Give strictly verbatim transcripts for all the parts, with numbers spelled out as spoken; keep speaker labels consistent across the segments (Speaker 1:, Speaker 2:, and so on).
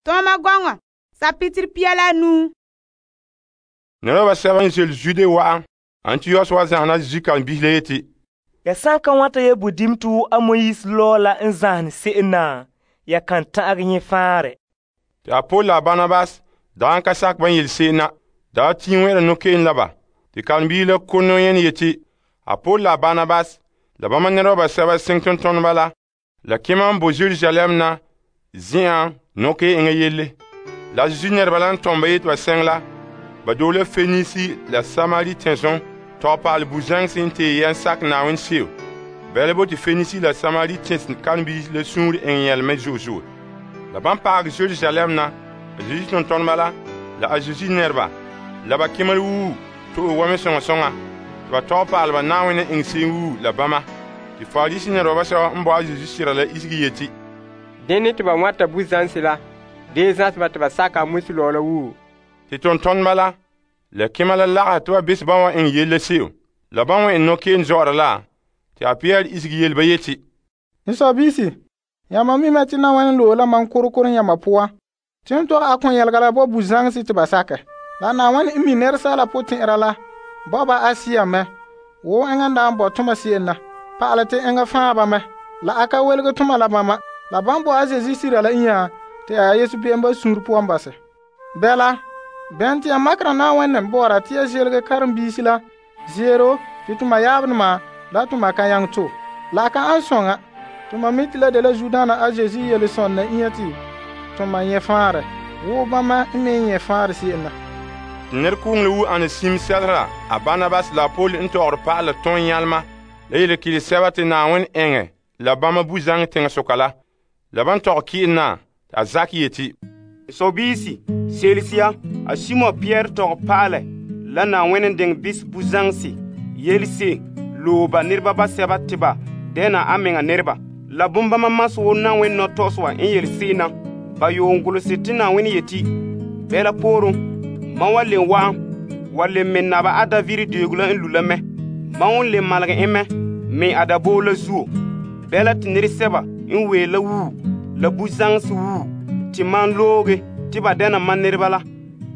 Speaker 1: Tɔɔma gɔŋɔ sapitiri pia la nuu.
Speaker 2: Nɛreba basɛba n ze'ele Zude wa'an Antios wa zahena Zeezi karen-biisi la yeti,
Speaker 3: Ya san ka wanta ya budim to a Moise lɔɔ la n zahene se'em na, ya kan ta'agɛ nyɛ faanrɛ.
Speaker 2: Te a Paul la Barnabas dagɛ ka sakɛ ban yele se'em na, daa tiin wɛ'ɛra nɔkeen la ba. Te karen-biisi la ko nɔyene yeti, a Paul la Barnabas la bama nɛreba basɛba seŋ tontoneba la, la kema n bo Yerusalem na zen'an nɔke eŋa yelle. La Zeezi nɛreba la n tom ba yeti ba seŋ la, ba dole la Fenisi la Samari tɛnzon tɔgɛ pa'alɛ bu-zaŋse n tee yɛn sakɛ Na'ayenɛ seo. Bɛla bo te Fenisi la Samari tɛns karen-biisi la suunre eŋɛ yɛleme zo'e zo'e. La ban paagɛ Yerusalem na, a Zeezi tontoneba la, la a Zeezi nɛreba, la ba kemel wuu to'e wa me soŋa soŋa, te ba tɔgɛ pa'alɛ ba Na'ayenɛ eŋɛ se'em wuu la bama. Te Farisi nɛreba basɛba n bo a Zeezi sira la isegi yeti,
Speaker 4: Dene te ba wanta bu-zãnse la, dee zãse ba te ba saka a Moise lɔɔ la wuu.
Speaker 2: Te tontoneba la, la kema la lagahɛ te ba bese ban wa eŋɛ yele la seo. La ban wa eŋɛ nɔkeen zɔ'ɔra la, te a Pierre isegi yele ba yeti,
Speaker 5: N sɔbiisi, yãmba mi mɛ te Na'ayenɛ loe la mam korokoro yãmba poan, te n tɔgɛ a kõ yɛlega la bo bu-zãŋse te ba sakɛ. La Na'ayenɛ n mi nɛresaala potɛn'ɛra la bo ba Asia mɛ, wo eŋa n daa bo toma se'em na, pa'alɛ te eŋa fãa ba mɛ, la a ka welege toma la bama. La ban bo a Zeezi sira la inya te a Yesu be'em ba suunre poan basɛ. Bɛla, bɛn te ya makera Na'ayenɛ bɔ'ɔra te ya ze'elege karen-biisi la zeero te toma yaabdoma la toma ka nyaŋɛ to. La a ka an soŋa, toma mi te la de la Zudaana a Zeezi yele sɔnna inya te toma nyɛ faanrɛ, wo bama n me nyɛ faanrɛ se'em na.
Speaker 2: Nɛrekooŋ la wu ane sim sɛlera a Barnabas la Paul n tɔgɔre pa'alɛ tõn nyalema la yele kile sɛba te Na'ayenɛ eŋɛ la bama bu-zaŋɛ teŋasoka la. La ban tɔgɛ ki'en na, a zakɛ yeti,
Speaker 6: Sɔbiisi, selesiya, a Simon Pierre tɔgɛ pa'alɛ la Na'ayenɛ diŋɛ bis bu-zãŋse yelse loe ba nɛreba basɛba te ba dɛna a meŋa nɛreba. La bombama masɛ wo Na'ayenɛ nɔtɔgɔsɛ wa n yele se'em na, ba yoon golose te Na'ayenɛ yeti, bɛla pooren, mam wa len wa'an wa len me naba a David deego la n lu la mɛ. Mam won len malege en mɛ me a daboo la zuo. Bɛla te nɛresɛba n wee la wuu la bu-zãŋse wuu te mam looge te ba dɛna mam nɛreba la.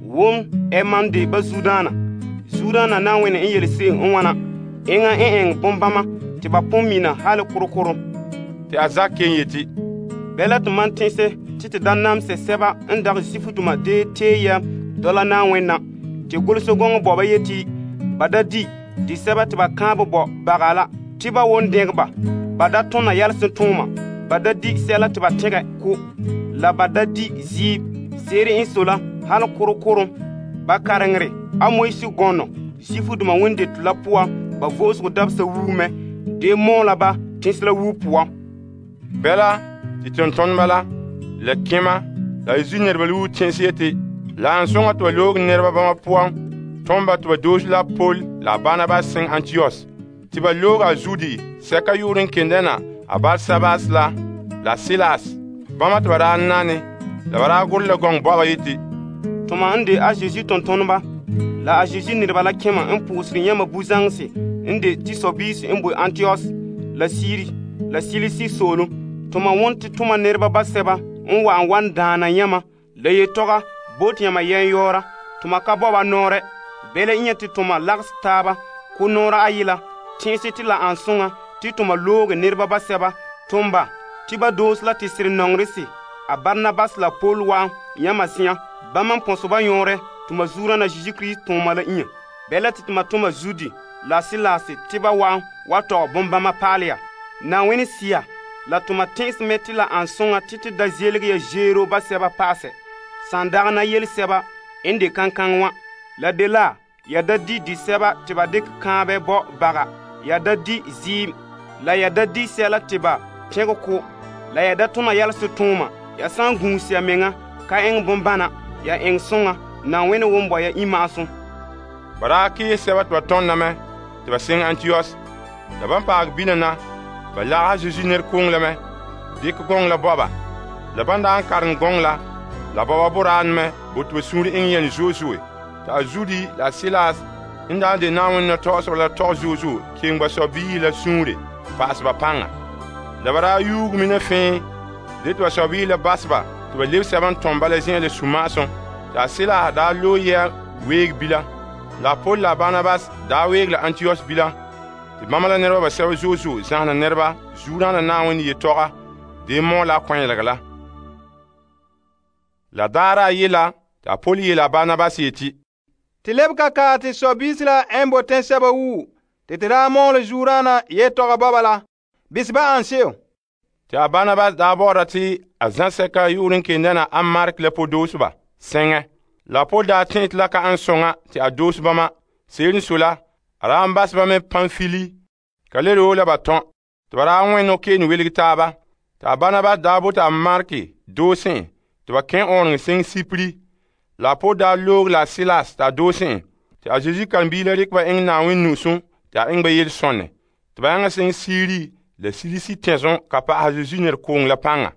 Speaker 6: Wom ɛ mam de ba Zudaana. Zudaana Na'ayenɛ n yele se'em n wana, eŋa n eŋɛ bombama te ba pon mina hali korokoro.
Speaker 2: te a zakɛ ken yeti,
Speaker 6: Bɛla te mam tẽse te te da namsɛ sɛba n dagɛ Zifutoma dee tee ya dɔla Na'ayenɛ na, te golose gɔŋɔ bɔ ba yeti ba da di di sɛba te ba kãabɛ bɔ baga la te ba won dɛgɛ ba. Ba da tõna yɛlsen tõoma, ba da di sɛla te ba tẽgɛ ko, la ba da di ziib seere n so la hal korokorom. Ba kareŋere a Moise gɔnɔ Zifutoma wendete la puan ba vo'osego dabesa wuu mɛ, dee mɔɔ la ba tẽse la wuu puan.
Speaker 2: bɛla te tontoneba la, la kema la Zeezi nɛreba la wuu tẽns yeti, la an sõŋa te ba loog nɛreba bama puan tõm ba te ba doose la Paul la Barnabas seŋ Antios, te ba loog a Zudi sɛka yuur n ken dɛna a Barsabas la la Silas. Bama te ba daa nane, la ba daa gurɛ la gɔŋ bɔba yeti,
Speaker 6: Toma n de a Zeezi tontoneba la a Zeezi nɛreba la kẽma n pʋʋsere yãmba bu-zãŋse n de te sɔbiisi n bo Antios la Siri la Silisi soolem. Toma won te toma nɛreba basɛba n wa'an wan daana yãmba la yetɔga bo te yãmba yɛn yɔɔra. Toma ka bɔba nɔɔrɛ, bɛla n yẽ te toma lagsɛ taaba ko nɔɔra ayi la, tẽese te la an sõŋa te toma looge nɛreba basɛba tʋm ba te ba doose la te sere nɔŋrese a Barnabas la Paul wa'an yãmba zĩã. Bãmba n põsɛ ba yõorɛ toma zuurã Zeezi Kirist tʋʋma la inya. Bɛla te toma tʋma Zudi la Silas te ba wa'an wa tɔgɛ bombama paalɛ ya. Na'ayenɛ sia la toma tẽes me te la an sõŋa te te da zeelege ya zeero basɛba pa'asɛ. Sãn dagena yel-sɛba n de kankaŋ wã, la de la ya da di di sɛba te ba dɩk kãabɛ bɔ baga, ya da di ziim, la ya da di sɛla te ba tẽg ko, la ya da tʋna yɛlse tʋʋma. Ya sã n gũus ya meŋa ka eŋ bombana, ya eŋ sõŋa, Na'ayenɛ won bɔ ya imaasum.
Speaker 2: ba daa kɩɩs sɛba te ba tõndame tɩ ba seŋ Antios. La ban paag bina na, ba lagha Zeezi nɛrekooŋ la mɛ, dɩk gɔŋ la bɔba. La ban daa n karem gɔŋ la, la bɔba boraan mɛ bo tɩ ba sũur eŋ yɛn zoe zoe. Tɩ a Zudi la Silas n daa de Na'ayenɛ nɔtɔgɔsegɔ la tɔg zoe zoe keŋ ba sɔbiisi la sũure pa'asɛ ba paŋa. La ba daa yuug mina fẽe, de tɩ ba sɔbiisi la bas ba tɩ ba lebe sɛba n tom bala zen'an la suma'asum. Tɩ a Silas daa loe yɛa weeg bilam. La Paul la Barnabas daa weeg la Antios bilam. Tɩ bãmba la nɛreba basɛba zo'e zo'e zãhena nɛreba zuodaana Na'ayenɛ yetɔga dee mɔ la a kɔnyelegɔ la. La daara ayela tɩ a Paul yeela Barnabas yeti,
Speaker 7: Tɩ leb ka ka tɩ sɔbiisi la n bo tẽnsɛba wuu tɩ tɩ daa mɔɔlɛ zuodaana yetɔga bɔba la. Bisi ba an se'em.
Speaker 2: Tɩ a Barnabas daa bɔ'ɔra tɩ a zãsɛka yu'urɛ n ken dɛna a Mark la podoosobã sɛŋɛ. La Paul daa tẽ tɩ la ka an soŋa tɩ a doos bãmba. Se'ere n sɔe la, a daa n basɛ ba mɛ Pamfili ka le roo la ba tɔn tɩ ba daa wẽ nɔkeen welg taaba. Tɩ a Barnabas daa bota a Mark doosẽ tɩ ba kẽ ɔɔnrɔŋ seŋ Sipri. La Paul daa loog la Silas t'a doosẽ tɩ a Zeezi karen-biig la rɩk ba eŋɛ Na'ayenɛ nu'usum tɩ a eŋɛ ba yel-sɔnɛ tɩ ba yaŋa seŋ Siri la Silisi tẽsem ka pa'ahɛ Zeezi nɛrekoŋɔ la paŋa.